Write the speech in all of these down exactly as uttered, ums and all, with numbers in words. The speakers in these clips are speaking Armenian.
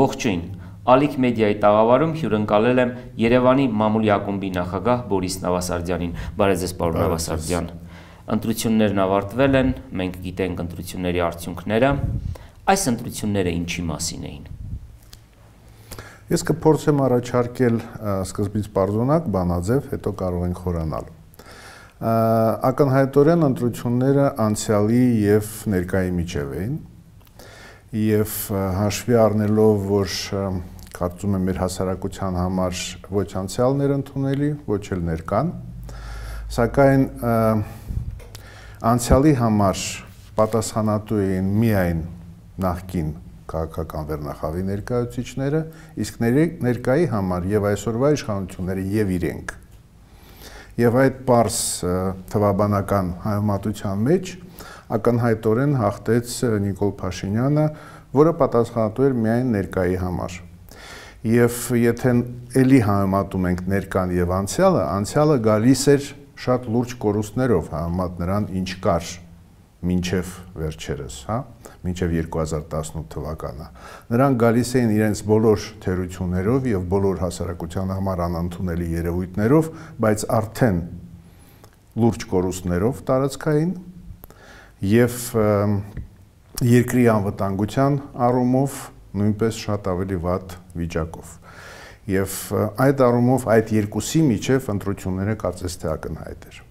Ողջույն, Ալիք մեդիայի տաղավարում հյուրընկալել եմ Երևանի մամուլի ակումբի նախագահ Բորիս Նավասարդյանին։ Բարև ձեզ, պարոն Նավասարդյան։ Ընտրություններն ավարտվել են, մենք գիտենք ընտրությունների արդյունքները։ Այս ընտրությունները ինչի մասին էին։ Ես կփորձեմ առաջարկել սկզբից պարզունակ, բանաձև, հետո կարող ենք խորանալ։ Ակնհայտորեն ընտրությունները անցյալի եւ ներկայի միջև էին եւ հաշվի առնելով, որ կարծում եմ մեր հասարակության համար ոչ անցյալն էր ընդունելի, ոչ էլ ներկան, սակայն անցյալի համար պատասխանատու էին միայն նախկին քաղաքական վերնախավի ներկայացուցիչները, իսկ ներկայի համար եւ այսօրվա իշխանությունները եւ իրենք։ Եվ այդ պարզ թվաբանական հայմատության մեջ ակնհայտորեն հաղթեց Նիկոլ Փաշինյանը, որը պատասխանատու էր միայն ներկայի համար։ Եվ եթե էլի հայմատում ենք ներկան եւ անցյալը, անցյալը գալիս էր շատ լուրջ կորուստներով, հայմատ նրան ինչ կար մինչև վերջերս, հա, մինչև երկու հազար տասնութ թվականը։ Նրանք գալիս էին իրենց բոլոր թերություններով եւ բոլոր հասարակության համար անընդունելի երևույթներով, բայց արդեն լուրջ կորուստներով տարածքային եւ երկրի անվտանգության առումով նույնպես շատ ավելի վատ վիճակով։ Եվ այդ առումով այդ երկուսի միջև ընտրությունները կարծես թե ակնհայտ էր։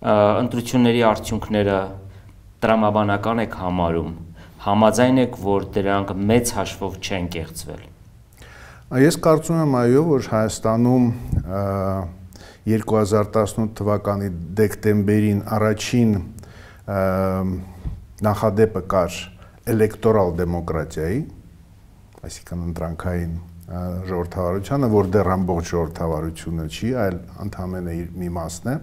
Ընտրությունների արդյունքները տրամաբանական եք համարում, համաձայն եք, որ դրանք մեծ հաշվով չեն կեղծվել։ Ես կարծում եմ այո, որ Հայաստանում երկու հազար տասնութ թվականի դեկտեմբերին առաջին նախադեպը կար էլեկտորալ դեմոկրատիայի, այսինքն ընտրանքային ժողովրդավարությանը, որ դեռ ամբողջ ժողովրդավարությունը չի, այլ ընդամենը իր մի մասն է։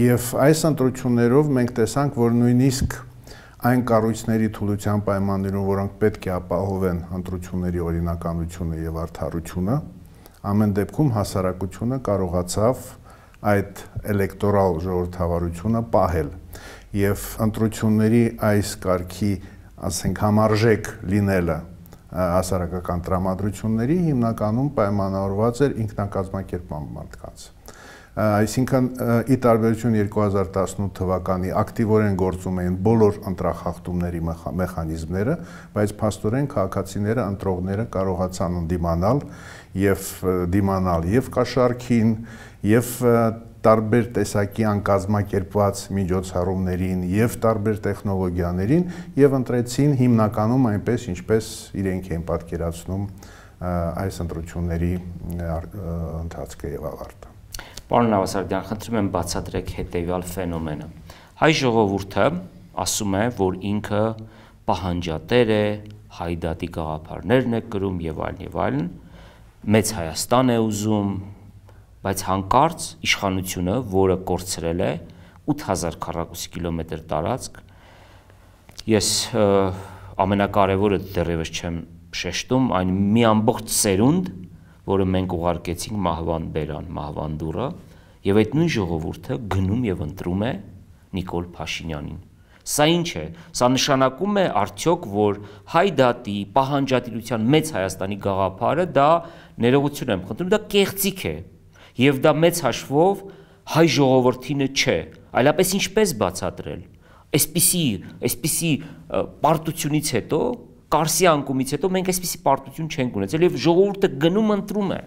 Եվ այս ընտրություններով մենք տեսանք, որ նույնիսկ այն կառույցների թուլության պայմաններում, որոնք պետք է ապահովեն ընտրությունների օրինականությունը եւ արդարությունը, ամեն դեպքում հասարակությունը կարողացավ այդ էլեկտորալ ժողովրդավարությունը պահել եւ ընտրությունների այս կարգի, ասենք, համարժեք լինելը հասարակական տրամադրությունների հիմնականում պայմանավորված էր ինքնակազմակերպման մարդկանց։ Այսինքն ի տարբերություն երկու հազար տասնութ թվականի ակտիվորեն գործում էին բոլոր ընտրախախտումների մեխանիզմները, բայց փաստորեն քաղաքացիները, ընտրողները կարողացան ընդդիմանալ եւ դիմանալ եւ կաշառքին, եւ տարբեր տեսակի անկազմակերպված միջոցառումներին եւ տարբեր տեխնոլոգիաներին եւ ընտրեցին հիմնականում այնպես, ինչպես իրենք էին պատկերացնում այս ընտրությունների ընթացքը եւ ավարտը։ Պարոն Նավասարդյան, խնդրում եմ բացատրեք հետևյալ ֆենոմենը։ Հայ ժողովուրդը ասում է, որ ինքը պահանջատեր է, հայդատի գաղափարներն է կրում եւ այլն եւ այլն, մեծ Հայաստան է ուզում, բայց հանկարծ իշխանությունը, որը կորցրել է ութ հազար քառակուսի կիլոմետր տարածք, ես ամենակարևորը դեռևս չեմ շեշտում, այն մի ամբողջ սերունդ, որը մենք ուղարկեցինք մահվան բերան, մահվան դուռը, եւ այդ նույն ժողովուրդը գնում եւ ընտրում է Նիկոլ Փաշինյանին։ Սա ինչ է։ Սա նշանակում է արդյոք, որ հայդատի, պահանջատիրության մեծ Հայաստանի գաղափարը դա ներողություն եմ խնդրում, դա կեղծիք է, եւ դա մեծ հաշվով հայ ժողովրդինը չէ, այլապես ինչպես բացատրել։ Այսպիսի, այսպիսի պարտությունից հետո, Կարսի անկումից հետո մենք այսպիսի պարտություն չենք ունեցել եւ ժողովուրդը գնում ընտրում է։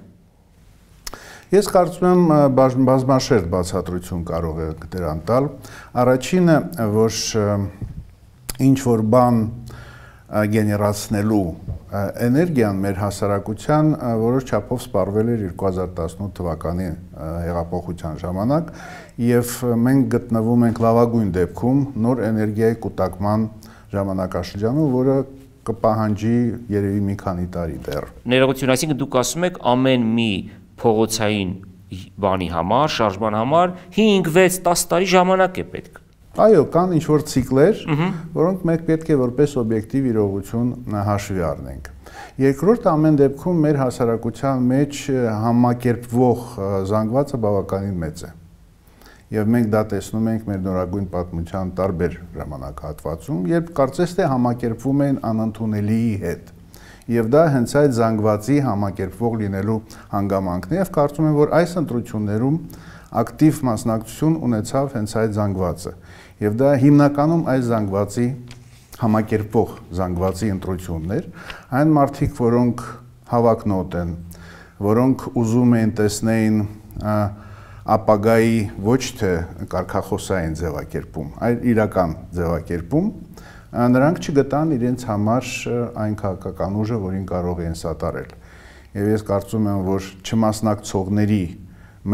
Ես կարծում եմ բազմաշերտ բացատրություն կարող է դրան տալ։ Առաջինը, որ ինչ որ բան գեներացնելու էներգիան մեր հասարակության որոշ չափով սպառվել էր երկու հազար տասնութ թվականի հեղափոխության ժամանակ եւ մենք գտնվում ենք լավագույն դեպքում նոր էներգիայի կուտակման ժամանակաշրջանում, որը կպահանջի երևի մի քանի տարի դեռ։ Ներողություն, այսինքն դուք ասում եք ամեն մի փողոցային բանի համար, շարժման համար հինգ վեց տասը տարի ժամանակ է պետք։ Այո, կան ինչ-որ ցիկլեր, որոնք մենք պետք է որպես օբյեկտիվ իրողություն հաշվի առնենք։ Երկրորդ, ամեն դեպքում մեր հասարակության մեջ համակերպվող զանգվածը բավականին մեծ է։ Եվ մենք դա տեսնում ենք մեր նորագույն պատմության տարբեր ժամանակահատվածում, երբ կարծես թե համակերպվում են անընդունելիի հետ։ Եվ դա հենց այդ զանգվածի համակերպվող լինելու հանգամանքն է, եւ կարծում եմ, որ այս ընտրություններում ակտիվ մասնակցություն ունեցավ հենց այդ զանգվածը։ Եվ դա հիմնականում այս զանգվածի համակերպվող զանգվածի ընտրություններ, այն մարդիկ, որոնք հավակնոտ են, որոնք ուզում են տեսնեին ապագայի ոչ թե կարգախոսային ձևակերպում, այլ իրական ձևակերպում, նրանք չգտան իրենց համար այն քաղաքական ուժը, որին կարող են սատարել։ Եվ ես կարծում եմ, որ չմասնակցողների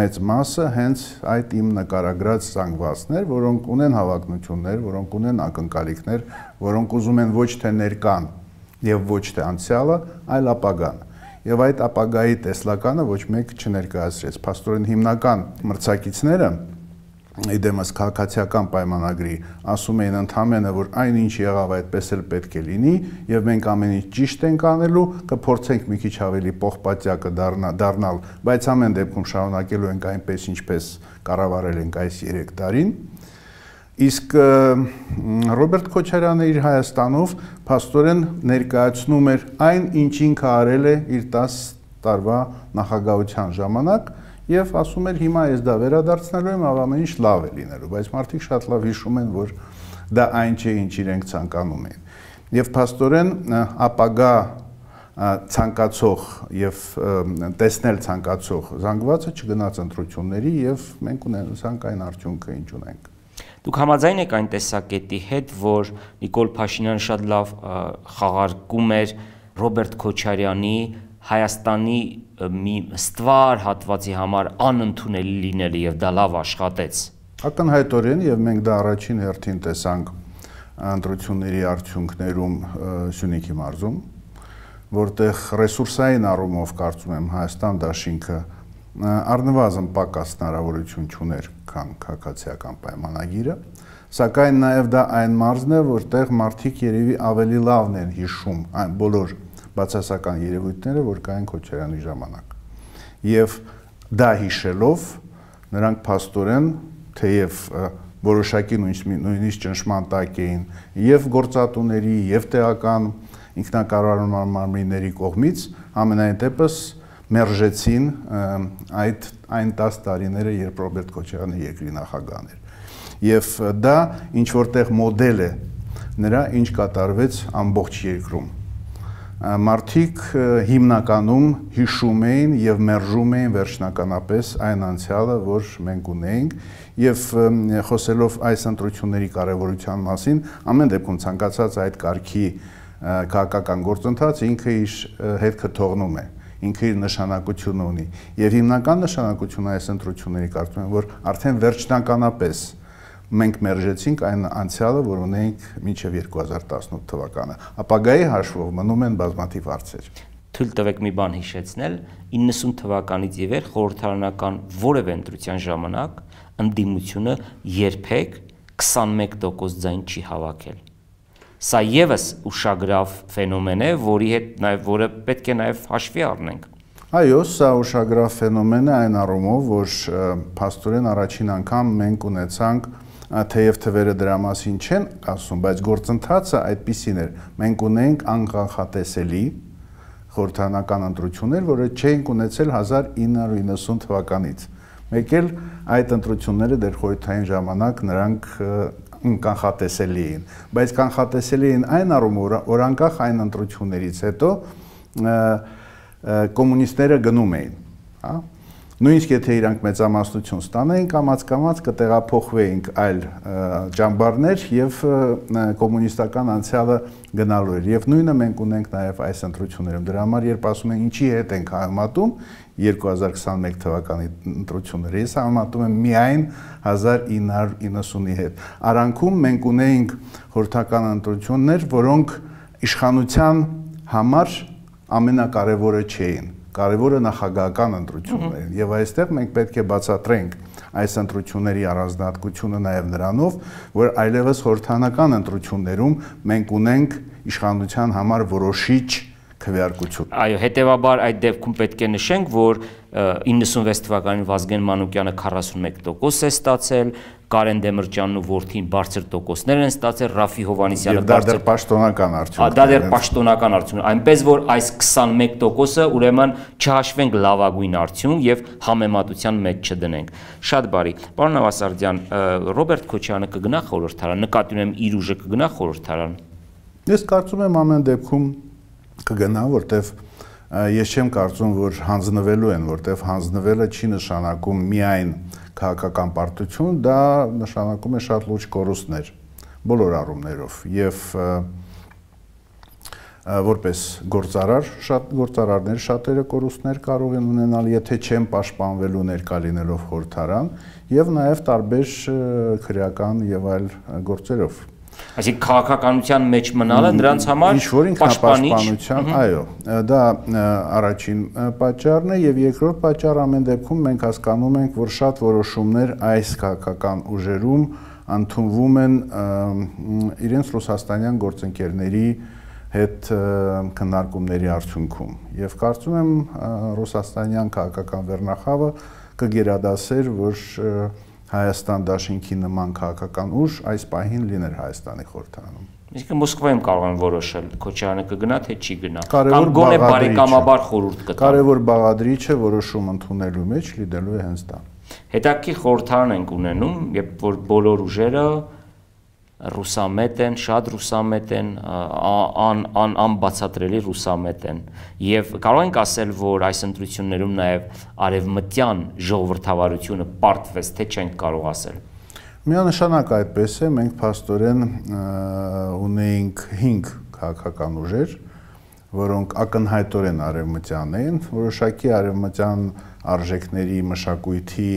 մեծ մասը հենց այդ իմ նկարագրած զանգվածներ, որոնք ունեն հավակնություններ, որոնք ունեն ակնկալիքներ, որոնք ուզում են ոչ թե ներկան եւ ոչ թե անցյալը, այլ ապագան։ Եվ այդ ապագայի տեսլականը ոչ մեկ չներկայացրեց։ Փաստորեն հիմնական մրցակիցները իդեմս քաղաքացիական պայմանագրի ասում էին ընդհանրապես, որ այնինչ եղավ այդպես էլ պետք է լինի եւ մենք ամեն ինչ ճիշտ ենք անելու, կփորձենք մի քիչ ավելի պողպատյակը դառնալ, բայց ամեն դեպքում շարունակելու ենք այնպես ինչպես կառավարել ենք այս երեք տարին։ Իսկ Ռոբերտ Քոչարյանը իր Հայաստանով փաստորեն ներկայացնում էր այն, ինչ ինքը արել է իր տասը տարվա նախագահության ժամանակ եւ ասում էր հիմա ես դա վերադարձնելու եմ, ամեն ինչ լավ է լինելու, բայց մարդիկ շատ լավ հիշում են, որ դա այն չէ, ինչ իրենք ցանկանում են։ Եվ փաստորեն ապագա ցանկացող եւ տեսնել ցանկացող զանգվածը չգնաց ընտրությունների եւ մենք ունենանք այն արդյունքը, ինչ ունենք։ Դուք համաձայն եք այն տեսակետի հետ, որ Նիկոլ Փաշինյանը շատ լավ խաղարկում էր Ռոբերտ Քոչարյանի Հայաստանի մի ստվար հատվածի համար անընդունելի լինելը եւ դա լավ աշխատեց։ Ակնհայտորեն եւ մենք դա առաջին հերթին տեսանք ընտրությունների արդյունքներում Սյունիքի մարզում, որտեղ ռեսուրսային առումով կարծում եմ Հայաստան դաշինքը առնվազն պակաս հնարավորություն չուներ, քան քաղաքացիական պայմանագիրը, սակայն նաև դա այն մարզն է, որտեղ մարդիկ երևի ավելի լավն են հիշում այն բոլոր բացասական երևույթները, որ կային Քոչարյանի ժամանակ։ Եվ դա հիշելով նրանք փաստորեն, թեև որոշակի նույնիսկ ճնշման տակ էին եւ գործատուների, եւ տեղական ինքնակառավարման մարմինների կողմից, ամենայն դեպս մերժեցին այդ այն տասը տարիները, երբ Ռոբերտ Քոչարյանը երկրի նախագահն էր։ Եվ դա ինչ որտեղ մոդել է նրա, ինչ կատարվեց ամբողջ երկրում։ Մարդիկ հիմնականում հիշում էին եւ մերժում էին վերջնականապես այն անցյալը, որ մենք ունեինք, եւ խոսելով այս ընտրությունների կարեւորության մասին, ամեն դեպքում ցանկացած այդ կարգի քաղաքական գործընթաց ինքը իր հետքը թողնում է, ինքը իր նշանակությունը ունի։ Եվ հիմնական նշանակությունը այս ընտրությունների կարծում եմ, որ արդեն վերջնականապես մենք մերժեցինք այն անցյալը, որ ունենք մինչև երկու հազար տասնութ թվականը։ Ապագայի հաշվով մնում են բազմաթիվ հարցեր։ Թույլ տվեք մի բան հիշեցնել, իննսուն թվականից ի վեր խորհրդարանական որևէ ընտրության ժամանակ ընդդիմությունը երբեք քսանմեկ տոկոս ձայն չի հավաքել։ Սա եւս ուշագրավ ֆենոմեն է, որի հետ նաեւ որը պետք է նաեւ հաշվի առնենք։ Այո, սա ուշագրավ ֆենոմեն է այն առումով, որ փաստորեն առաջին անգամ մենք ունեցանք, թեև թվերը դրա մասին չեն ասում, բայց գործընթացը այդպիսին էր։ Մենք ունենք անկանխատեսելի խորհրդարանական ընտրություններ, որը չէինք ունեցել հազար ինը հարյուր իննսուն թվականից։ Մեկ էլ այդ ընտրությունները դեռ խորհրդային ժամանակ նրանք կանխատեսելի էին, բայց կանխատեսելի էին այն առումով, որ անկախ այն ընտրություններից հետո կոմունիստները գնում էին, հա։ Նույնիսկ եթե իրանք մեծամասնություն ստանային, կամաց-կամաց կտեղափոխվեինք այլ ճամբարներ եւ կոմունիստական անցյալը գնալու էր։ Եվ նույնը մենք ունենք նաեւ այս ընտրություններում։ Դրա համար երբ ասում են ինչի հետ ենք համատում երկու հազար քսանմեկ թվականի ընտրությունները, ես համատում եմ միայն հազար ինը հարյուր իննսունի հետ։ Արանքում մենք ունեինք խորհրդական ընտրություններ, որոնք իշխանության համար ամենակարևորը չէին, կարևորը նախագահական ընտրություններն են, եւ այստեղ մենք պետք է բացատրենք այս ընտրությունների առանձնահատկությունը նաեւ նրանով, որ այլևս խորհրդարանական ընտրություններում մենք ունենք իշխանության համար որոշիչ քվեարկություն։ Այո, հետեւաբար այդ դեպքում պետք է նշենք, որ իննսունվեց թվականին Վազգեն Մանուկյանը քառասունմեկ տոկոս է ստացել, Կարեն Դեմիրճյանն ու որդին բարձր տոկոսներ են ստացել, Ռաֆի Հովհաննիսյանը դա դեռ պաշտոնական արդյունք է։ Դա դեռ պաշտոնական արդյունք, այնպես որ այս քսանմեկ տոկոսը ուրեմն չհաշվենք լավագույն արդյունք եւ համեմատության մեջ չդնենք։ Շատ բարի։ Պարոն Նավասարդյան, Ռոբերտ Քոչարյանը կգնա խորհրդարան, նկատի ունեմ իր ուժը կգնա խորհրդարան։ Ես կարծում եմ ամեն դեպքում կգնա, որտեվ ես չեմ կարծում, որ հանձնվելու են, որտեվ հանձնվելը չի նշանակում միայն քաղաքական պարտություն, դա նշանակում է շատ լուրջ կորուստներ բոլոր առումներով եւ որպես գործարար, շատ գործարարներ շատերը կորուստներ կարող են ունենալ, եթե չեն պաշտպանվելու ներկա լինելով խորհրդարան եւ նաեւ տարբեր քրեական եւ այլ գործերով։ Այսինքն քաղաքականության մեջ մնալը նրանց համար պաշտպանության, այո, դա առաջին պատճառն է եւ երկրորդ պատճառը ամեն դեպքում մենք հասկանում ենք, որ շատ որոշումներ այս քաղաքական ուժերում ընդունվում են իրենց ռուսաստանյան գործընկերների հետ քննարկումների արդյունքում եւ կարծում եմ ռուսաստանյան քաղաքական վերնախավը կգերադասեր, որ Հայաստան դաշինքի նման քաղաքական ուժ այս պահին լիներ Հայաստանի խորհրդարանում։ Իսկ Մոսկվայում կարող են որոշել Քոչարյանը կգնա թե չի գնա։ Կամ գոնե բարեկամաբար խորհուրդ կտան։ Կարևոր բաղադրիչը որոշում ընդունելու մեջ լինելու է հենց դա։ Հետաքրքիր խորհրդարան ենք ունենում, երբ որ բոլոր ուժերը ռուսամետ են, շատ ռուսամետ են, անբացատրելի ռուսամետ են եւ կարող ենք ասել, որ այս ընտրություններում նաեւ արևմտյան ժողովրդավարությունը պարտվեց, թե չենք կարող ասել։ Միանշանակ այդպես է, մենք փաստորեն ունեինք հինգ քաղաքական ուժեր, որոնք ակնհայտորեն արևմտյան են, որոշակի արևմտյան արժեքների մշակույթի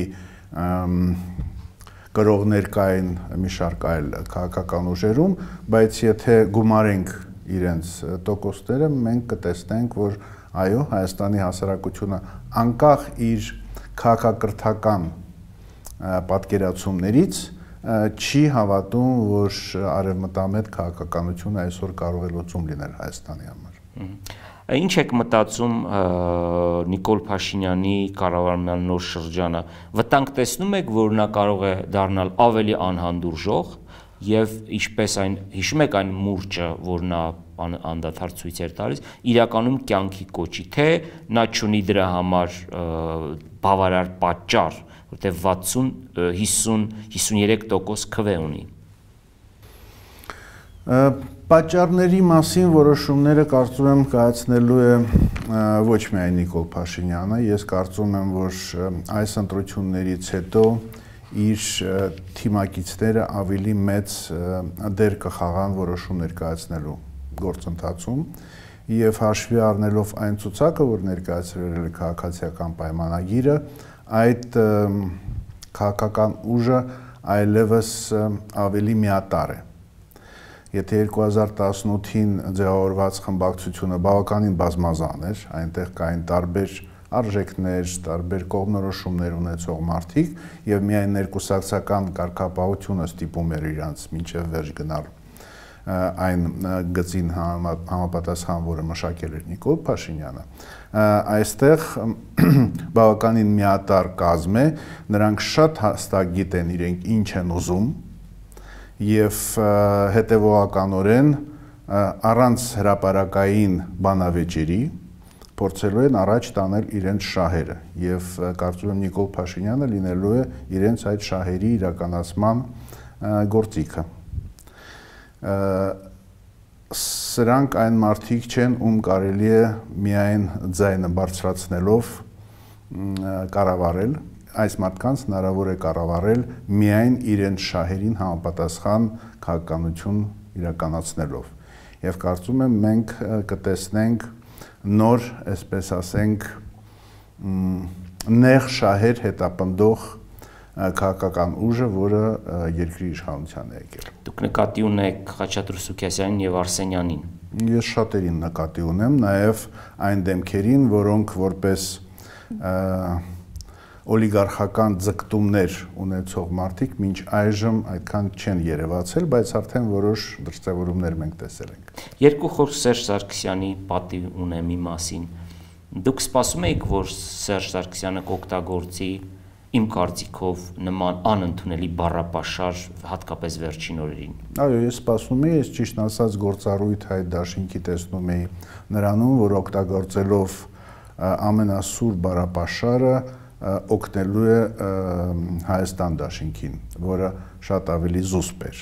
կրողներ կային մի շարք այլ քաղաքական ուժերում, բայց եթե գումարենք իրենց տոկոսները, մենք կտեսնենք, որ այո, Հայաստանի հասարակությունը անկախ իր քաղաքակրթական պատկերացումներից չի հավատում, որ արևմտամետ քաղաքականությունը այսօր կարող է լուծում լինել Հայաստանի համար։ Ինչ եք մտածում Նիկոլ Փաշինյանի կառավարման նոր շրջանը, վտանգ տեսնում եք, որ նա կարող է դառնալ ավելի անհանդուրժող եւ ինչպես այն հիշում եք այն մուրճը, որ նա անդադար ցույց էր տալիս, իրականում կյանքի կոչի, թե նա չունի դրա համար բավարար պատճառ, որտեղ վաթսուն, հիսուն, հիսունյերեք տոկոս քվե ունի։ Պատճառների մասին որոշումները կարծում եմ կայացնելու է ոչ միայն Նիկոլ Փաշինյանը, ես կարծում եմ, որ այս ընտրություններից հետո իր թիմակիցները ավելի մեծ դեր կխաղան որոշումներ կայացնելու գործընթացում եւ հաշվի առնելով այն ցուցակը, որ ներկայացրել է քաղաքացիական պայմանագիրը, այդ քաղաքական ուժը այլևս ավելի միատարր է։ Եթե երկու հազար տասնութին ձևավորված խմբակցությունը բավականին բազմազան էր, այնտեղ կային տարբեր արժեքներ, տարբեր կողմնորոշումներ ունեցող մարդիկ եւ միայն ներկուսակցական կարգապահությունը ստիպում էր իրանց մինչեւ վերջ գնալ այն գծին համապատասխան, որը մշակել էր Նիկոլ Փաշինյանը, այստեղ բավականին միատարր կազմ է, նրանք շատ հստակ գիտեն իրենք ինչ են ուզում եւ հետեւողականորեն առանց հրապարակային բանավեճերի փորձելու են առաջ տանել իրենց շահերը եւ կարծում եմ Նիկոլ Փաշինյանը լինելու է իրենց այդ շահերի իրականացման գործիքը։ Սրանք այն մարդիկ չեն, ում կարելի է միայն ձայնը բարձրացնելով կառավարել, այս մարդկանց հնարավոր է կառավարել միայն իրենց շահերին համապատասխան քաղաքականություն իրականացնելով։ Եվ կարծում եմ մենք կտեսնենք նոր, այսպես ասենք, նեղ շահեր հետապնդող քաղաքական ուժը, որը երկրի իշխանության է եկել։ Դուք նկատի ունեք Խաչատրյուն Սուքիասյանին եւ Արսենյանին։ Ես շատերին նկատի ունեմ, նաեւ այն դեմքերին, որոնք որպես օլիգարխական ձգտումներ ունեցող մարդիկ մինչ այժմ այդքան չեն երևացել, բայց արդեն որոշ դրսևորումներ մենք տեսել ենք։ Երկու խոսք Սերժ Սարգսյանի պատիվ ունեմ մի մասին։ Դուք սպասում եք, որ Սերժ Սարգսյանը կօգտագործի իմ կարծիքով նման անընդունելի բառապաշար հատկապես վերջին օրերին։ Այո, ես սպասում եի, ես ճիշտ ասած գործառույթ այդ դաշինքի տեսնում էի նրանում, որ օգտագործելով ամենասուր բառապաշարը օգնելու է Հայաստան դաշինքին, որը շատ ավելի զուսպ էր։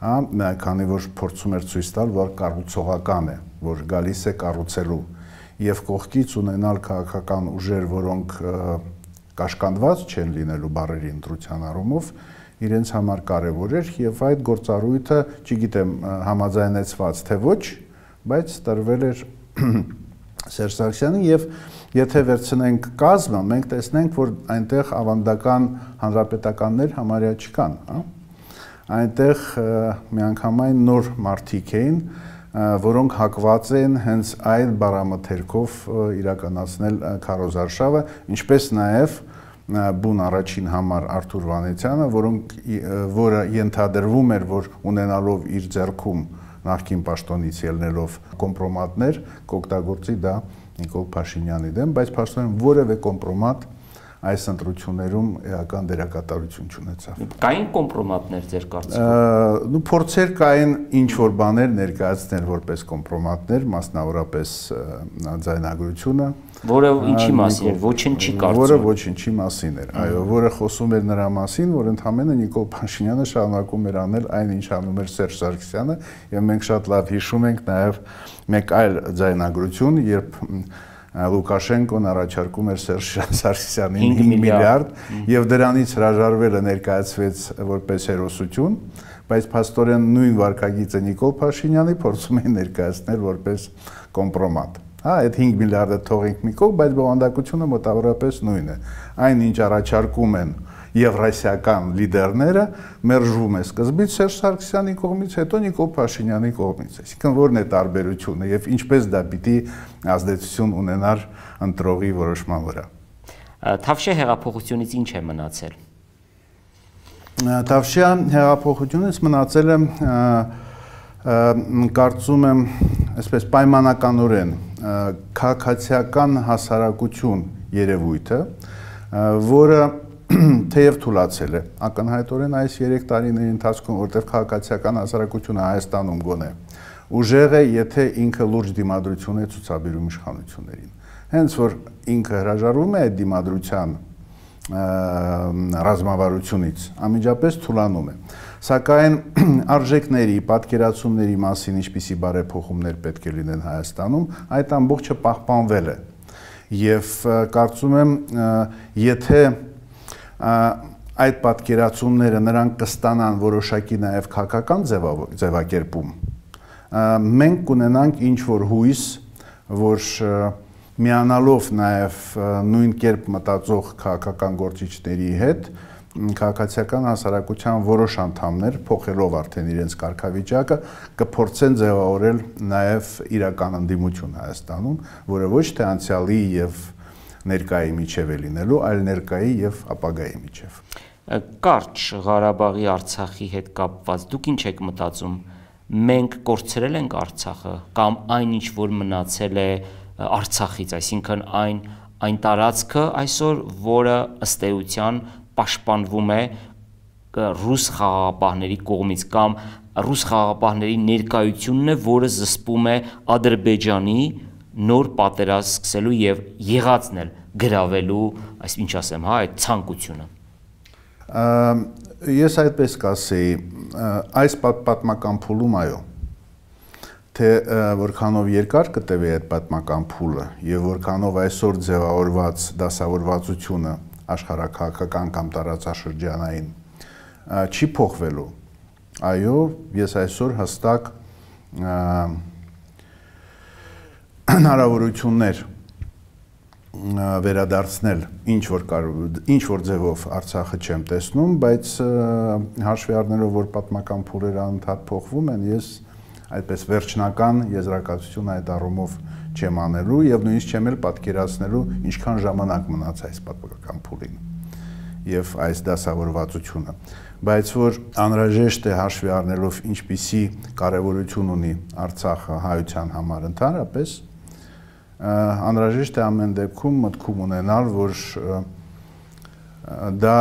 Հա, քանի որ փորձում էր ցույց տալ, որ կառուցողական է, որ գալիս է կառուցելու եւ կողքից ունենալ քաղաքական ուժեր, որոնք կաշկանդված չեն լինելու բառերի ընտրության առումով, իրենց համար կարևոր էր եւ այդ գործառույթը, չգիտեմ, համաձայնեցված թե ոչ, բայց տրվել էր Սերժ Սարգսյանին եւ եթե վերցնենք կազմը, մենք տեսնենք, որ այնտեղ ավանդական հանրապետականներ համարյա չկան, հա։ Այնտեղ միանգամայն նոր մարդիկ էին, որոնք հակված են հենց այդ բառամթերքով իրականացնել քարոզարշավը, ինչպես նաև բուն առաջին համար Արթուր Վանեցյանը, որոնք որը ենթադրվում էր, որ ունենալով իր ձեռքում նախկին պաշտոնից ելնելով կոմպրոմատներ, կօգտագործի դա Նիկոլ Փաշինյանի դեմ, բայց փաստորեն որևէ կոմպրոմատ այս ընտրություններում էական դերակատարություն չունեցավ։ Կային կոմպրոմատներ ձեր կարծիքով։ Նու փորձեր կային ինչ որ բաներ ներկայացնել որպես կոմպրոմատներ, մասնավորապես ձայնագրությունը, որը ինչի մասին էր, ոչինչի կարծում։ Որը ոչինչի մասին էր, այո, որը խոսում էր նրա մասին, որ ընդհանրապես Նիկոլ Փաշինյանը շարունակում էր անել այն, ինչ անում էր Սերժ Սարգսյանը, եւ մենք շատ լավ հիշում ենք նաեւ մեկ այլ ձայնագրություն, երբ Լուկաշենկոն առաջարկում էր Սերժ Սարգսյանին հինգ միլիարդ եւ դրանից հրաժարվելը ներկայացվեց որպես հերոսություն, բայց փաստորեն նույն վարկագիծը Նիկոլ Փաշինյանի փորձում էին ներկայացնել որպես կոմպրոմատ։ Հա, այդ հինգ միլիարդը թողենք մի կողմ, բայց բովանդակությունը մոտավորապես նույնն է։ Այն ինչ առաջարկում են եվրասիական լիդերները, մերժվում է սկզբից Սերժ Սարգսյանի կողմից, հետո Նիկոլ Փաշինյանի կողմից։ Այսինքն որն է տարբերությունը եւ ինչպես դա պիտի ազդեցություն ունենար ընտրողի որոշման վրա։ Թավշյա հեղափոխությունից ինչ է մնացել։ Թավշյա հեղափոխությունից մնացել է կարծում եմ, այսպես պայմանականորեն քաղաքացիական հասարակություն երևույթը, որը թեև թուլացել է ակնհայտորեն այս երեք տարիների ընթացքում, որտեղ քաղաքացիական հասարակությունը Հայաստանում գոնե ուժեղ է, եթե ինքը լուրջ դիմադրություն է ցուցաբերում իշխանություններին։ Հենց որ ինքը հրաժարվում է այդ դիմադրության ռազմավարությունից, անմիջապես թուլանում է։ Սակայն արժեքների, պատկերացումների մասին ինչպիսի բարեփոխումներ պետք է լինեն Հայաստանում, այդ ամբողջը պահպանվել է։ Եվ կարծում եմ, եթե այդ պատկերացումները նրանք կստանան որոշակի նաև քաղաքական ձևակերպում, մենք կունենանք ինչ-որ հույս, որ միանալով նաև նույն կերպ մտածող քաղաքական գործիչների հետ, քաղաքացիական հասարակության որոշ անդամներ, փոխելով արդեն իրենց կարգավիճակը, կփորձեն ձևավորել նաև իրական ընդդիմություն Հայաստանում, որը ոչ թե անցյալի եւ ներկայի միջև է լինելու, այլ ներկայի եւ ապագայի միջև։ Կարճ Ղարաբաղի Արցախի հետ կապված դուք ինչ եք մտածում։ Մենք կորցրել ենք Արցախը կամ այն ինչ որ մնացել է Արցախից, այսինքն այն այն տարածքը այսօր, որը ըստ էության պաշտպանվում է ռուս խաղաղապահների կողմից կամ ռուս խաղաղապահների ներկայությունն է, որը զսպում է Ադրբեջանի նոր պատերազմ սկսելու եւ եղածն էլ գրավելու, այս ինչ ասեմ, հա, այդ ցանկությունը։ Ես այդպես կասեի, այս պատմական փուլում այո, թե որքանով երկար կտևի այդ պատմական փուլը եւ որքանով այսօր ձևավորված դասավորվածությունը աշխարհակաղակական կամ տարածաշրջանային չի փոխվելու։ Այո, ես այսօր հստակ հնարավորություններ վերադարձնել ինչ որ ինչ որ ձևով Արցախը չեմ տեսնում, բայց հաշվի առնելով, որ պատմական փուլերը անընդհատ փոխվում են, ես այդպես վերջնական եզրակացություն այդ առումով չեմ անելու եւ նույնիսկ չեմ էլ պատկերացնելու ինչքան ժամանակ մնաց այս պատմական փուլին եւ այս դասավորվածությունը, բայց որ անհրաժեշտ է հաշվի առնելով ինչպիսի կարեւորություն ունի Արցախը հայության համար ընդհանրապես, անհրաժեշտ է ամեն դեպքում մտքում ունենալ, որ դա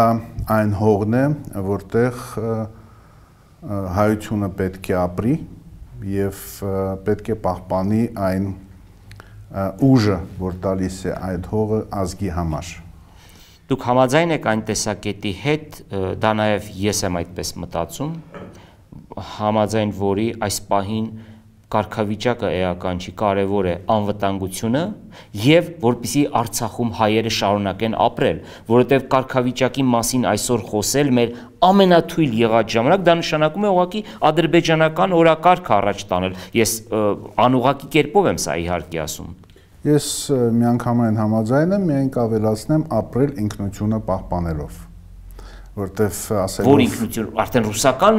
այն հողն է, որտեղ հայությունը պետք է ապրի եւ պետք է պահպանի այն ուժը, որ տալիս է այդ հողը ազգի համար։ Դուք համաձայն եք այն տեսակետի հետ, դա նաեւ ես եմ այդպես մտածում, համաձայն որի այս պահին կարգավիճակը էական չի, կարևոր է անվտանգությունը եւ որպեսզի Արցախում հայերը շարունակեն ապրել, որովհետեւ կարգավիճակի մասին այսօր խոսել մեր ամենաթույլ եղած ժամանակ դա նշանակում է ուղղակի ադրբեջանական օրակարգ առաջ տանել։ Ես անուղղակի կերպով եմ սա իհարկե ասում։ Ես միանգամայն համաձայն եմ, միայն կավելացնեմ ապրել ինքնությունը պահպանելով։ Որտեվ ասելով որ ինքնություն արդեն ռուսական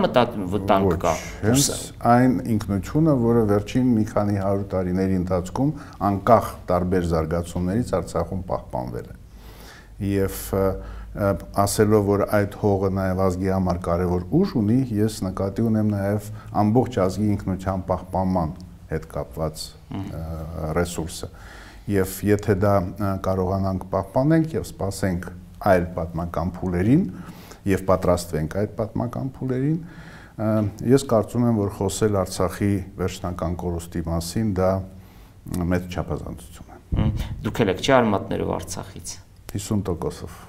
վտանգ կա, հենց այն ինքնությունը, որը վերջին մի քանի հարյուր տարիների ընթացքում անկախ տարբեր զարգացումներից Արցախում պահպանվել է։ Եվ ասելով, որ այդ հողը նաև ազգի համար կարևոր ուժ ունի, ես նկատի ունեմ նաև ամբողջ ազգի ինքնության պահպանման հետ կապված ռեսուրսը։ Եվ եթե դա կարողանանք պահպանենք եւ սպասենք այլ պատմական փուլերին եւ պատրաստվենք այդ պատմական փուլերին, ես կարծում եմ, որ խոսել Արցախի վերջնական կորուստի մասին դա մեծ չափազանցություն է։ Դուք եք չի արմատներով Արցախից հիսուն տոկոսով։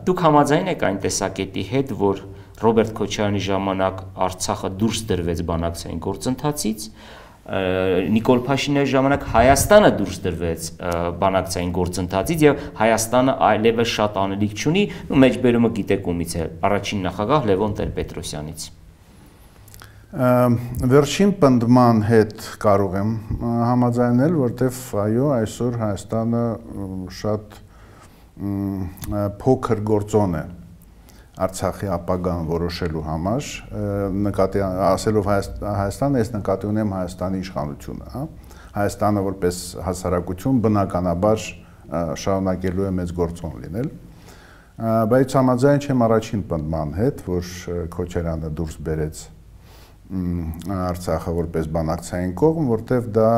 Դուք համաձայն եք այն տեսակետի հետ, որ Ռոբերտ Քոչարյանի ժամանակ Արցախը դուրս դրվեց բանակցային գործընթացից, Նիկոլ Փաշինյանի ժամանակ Հայաստանը դուրս դրվեց բանակցային գործընթացից եւ Հայաստանը այլևս շատ անելիք չունի, ու մեջբերումը գիտեք ումից է, առաջին նախագահ Լևոն Տեր-Պետրոսյանից։ Վերջին պնդման հետ կարող եմ համաձայնել, որտեվ այո, այսօր Հայաստանը շատ փոքր գործոն է Արցախի ապագան որոշելու համար, նկատի ասելով Հայաստանը, ես նկատի ունեմ Հայաստանի իշխանությունը, հա։ Հայաստանը որպես հասարակություն բնականաբար շարունակելու է մեծ գործոն լինել, բայց համաձայն չեմ առաջին պնդման հետ, որ Քոչարյանը դուրս բերեց Արցախը որպես բանակցային կողմ, որտեղ դա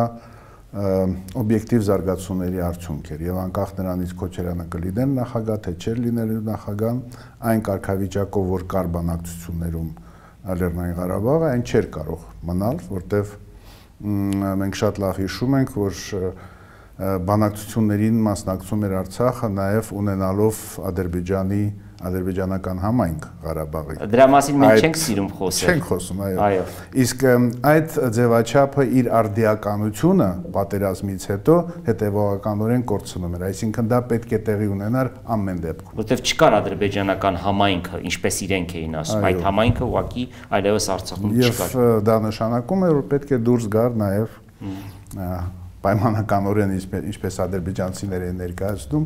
օբյեկտիվ զարգացումների արդյունք էր եւ անկախ նրանից Քոչարյանը կլիներ նախագահ, թե չէր լինելու նախագահ, այն կարգավիճակով, որ կար բանակցություններում Լեռնային Ղարաբաղը, այն չէր կարող մնալ, որտեվ մենք շատ լավ հիշում ենք, որ բանակցություններին մասնակցում էր Արցախը նաեւ ունենալով Ադրբեջանի ադրբեջանական համայնք Ղարաբաղի։ Դրա մասին մենք չենք սիրում խոսել։ Չենք խոսում, այո։ Իսկ այդ ձևաչափը իր արդիականությունը պատերազմից հետո հետևողականորեն կորցնում էր, այսինքն դա պետք է տեղի ունենար ամեն դեպքում։ Որտեվ չկար ադրբեջանական համայնքը, ինչպես իրենք էին ասում, այդ համայնքը ուղղակի այլևս Արցախում չկար։ Եվ դա նշանակում է, որ պետք է դուրս գար նաև պայմանականորեն, ինչպես ադրբեջանցիները են ներկայացնում,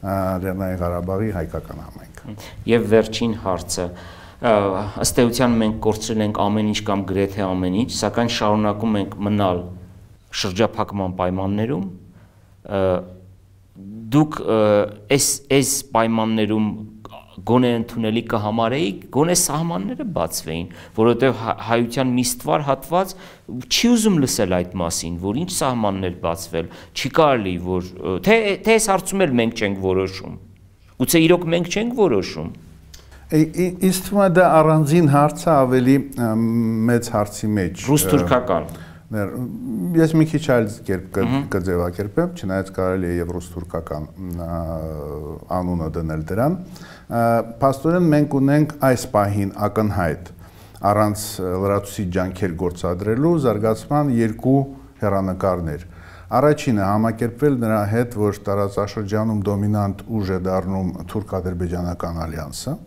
Լեռնային Ղարաբաղի հայկական համայնքը։ Եվ վերջին հարցը, ըստ էության մենք կորցրել ենք ամեն ինչ կամ գրեթե ամեն ինչ, սակայն շարունակում ենք մնալ շրջափակման պայմաններում, դուք այս այս պայմաններում գոնե ընդունելի կհամարեիք, գոնե սահմանները բացվեին, որովհետև հայության մի ստվար հատված չի ուզում լսել այդ մասին, որ ինչ սահմաններ բացվել, չի կարելի, որ թե թե այս հարցում էլ մենք չենք որոշում։ Գուցե իրոք մենք չենք որոշում։ Ինձ թվում է դա առանձին հարց է, ավելի մեծ հարցի մեջ։ Ռուս-թուրքական։ Ես մի քիչ այլ կերպ կձևակերպեմ, չնայած կարելի է եւ ռուս-թուրքական անունը դնել դրան։ Փաստորեն մենք ունենք այս պահին ակնհայտ առանց լրացուցիչ ջանքեր գործադրելու զարգացման երկու հեռանկարներ։ Առաջինը համակերպվել նրա հետ, որ տարածաշրջանում դոմինանտ ուժ է դառնում թուրք-ադրբեջանական ալյանսը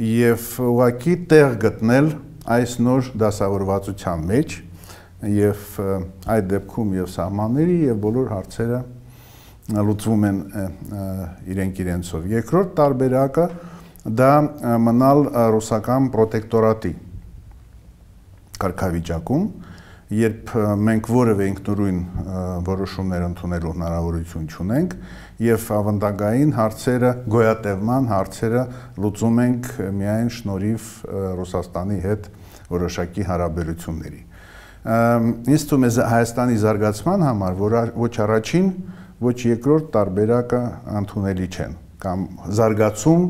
եւ ուղղակի տեղ գտնել այս նոր դասավորվածության մեջ եւ այդ դեպքում եւ սահմանների եւ բոլոր հարցերը լուծվում են իրենք իրենցով։ Երկրորդ տարբերակը դա մնալ ռուսական պրոտեկտորատի կարգավիճակում, երբ մենք որևէ ինքնուրույն որոշումներ ընդունելու հնարավորություն չունենք եւ ավանդակային հարցերը, գոյատևման հարցերը լուծում ենք միայն շնորհիվ Ռուսաստանի հետ որոշակի հարաբերությունների։ Ինձ թվում է Հայաստանի զարգացման համար, որ ոչ առաջին, ոչ երկրորդ տարբերակը ընդունելի չեն, կամ զարգացում,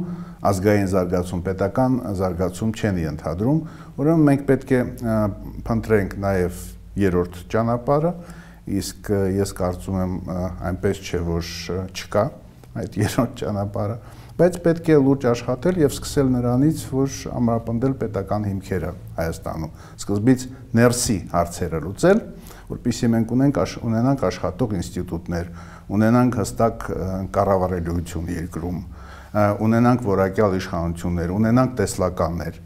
ազգային զարգացում, պետական զարգացում չեն ենթադրում, ուրեմն մենք պետք է փնտրենք նաև երրորդ ճանապարհը, իսկ ես կարծում եմ այնպես չէ, որ չկա այդ երրորդ ճանապարհը, բայց պետք է լուրջ աշխատել եւ սկսել նրանից, որ ամրապնդել պետական հիմքերը Հայաստանում, սկզբից ներսի հարցերը լուծել, որպեսզի մենք ունենք ունենանք աշխատող ինստիտուտներ, ունենանք հստակ կառավարելիություն երկրում, ունենանք որակյալ իշխանություններ, ունենանք տեսլականներ,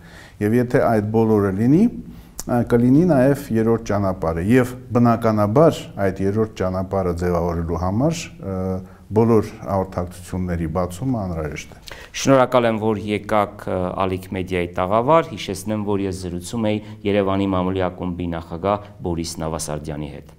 եւ եթե այդ բոլորը լինի, կլինի նաև երրորդ ճանապարհը եւ բնականաբար այդ երրորդ ճանապարհը ձևավորելու համար բոլոր հաղորդակցությունների բացումը անհրաժեշտ է։ Շնորհակալ եմ, որ եկաք Ալիք մեդիայի տաղավար, հիշեցնեմ, որ ես զրուցում էի Երևանի մամուլի ակումբի նախագահ Բորիս Նավասարդյանի հետ։